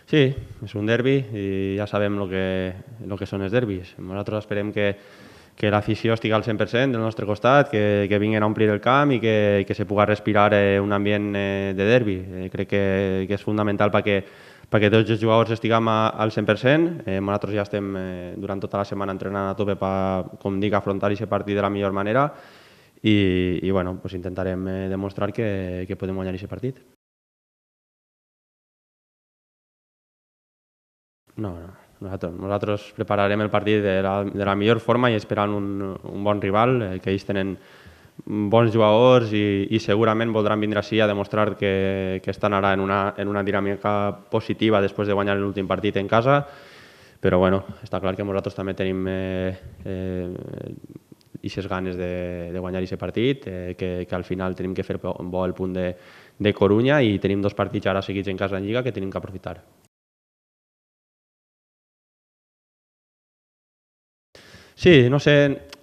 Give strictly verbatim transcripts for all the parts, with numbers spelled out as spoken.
Sí, és un derbi i ja sabem el que, el que són els derbis. Nosaltres esperem que, que l'afició estigui al cent per cent del nostre costat, que, que vinguin a omplir el camp i que, que se pugui respirar eh, un ambient eh, de derbi. Eh, crec que, que és fundamental perquè, perquè tots els jugadors estiguem a, al cent per cent. Eh, nosaltres ja estem eh, durant tota la setmana entrenant a tope per, com dic, afrontar aquest partit de la millor manera i, i bueno, pues intentarem eh, demostrar que, que podem guanyar aquest partit. No, no. Nosaltres, nosaltres prepararem el partit de la, de la millor forma i esperant un, un bon rival, eh, que ells tenen bons jugadors i, i segurament voldran vindre així a demostrar que, que estan ara en una, en una dinàmica positiva després de guanyar l'últim partit en casa, però bueno, està clar que nosaltres també tenim eh, eh, aquestes ganes de, de guanyar aquest partit, eh, que, que al final tenim que fer bo el punt de, de Corunya i tenim dos partits ara seguits en casa en Lliga que tenim que aprofitar. Sí, no sé,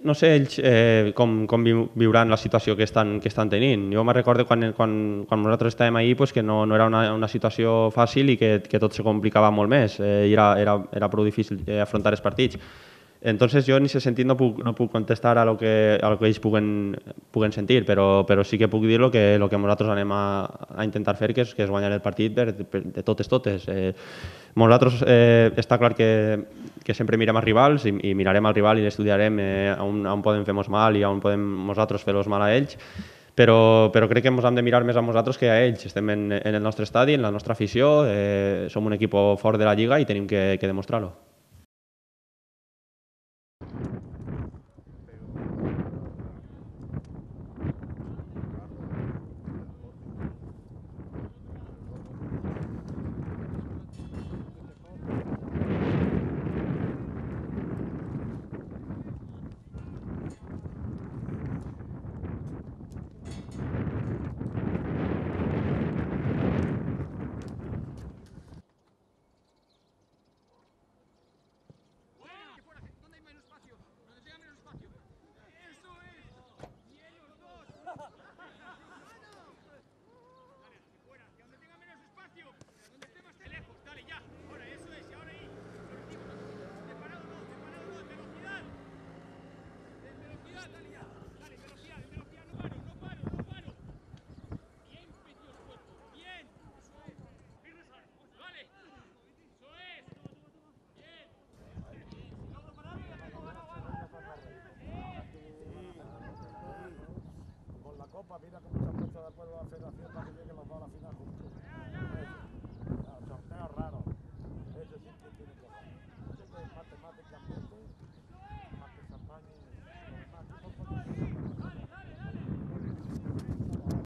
no sé ells eh, com, com viuran la situació que estan, que estan tenint. Jo me recordo quan, quan, quan nosaltres estàvem ahí pues, que no, no era una, una situació fàcil i que, que tot se complicava molt més. Eh, era, era, era prou difícil eh, afrontar els partits. Entonces jo en aquest sentit no puc, no puc contestar a lo que, a lo que ells puguen, puguen sentir, però, però sí que puc dir lo que, lo que nosaltres anem a, a intentar fer, que és, que és guanyar el partit per, per, de totes totes. Eh, nosaltres eh, està clar que, que sempre mirem els rivals i, i mirarem al rival i estudiarem eh, on, on podem fer-nos mal i on podem nosaltres fer-los mal a ells, però, però crec que ens hem de mirar més a nosaltres que a ells. Estem en, en el nostre estadi, en la nostra afició, eh, som un equip fort de la Lliga i tenim que, que demostrar-ho. Copa, mira cómo se ha puesto de acuerdo la federación.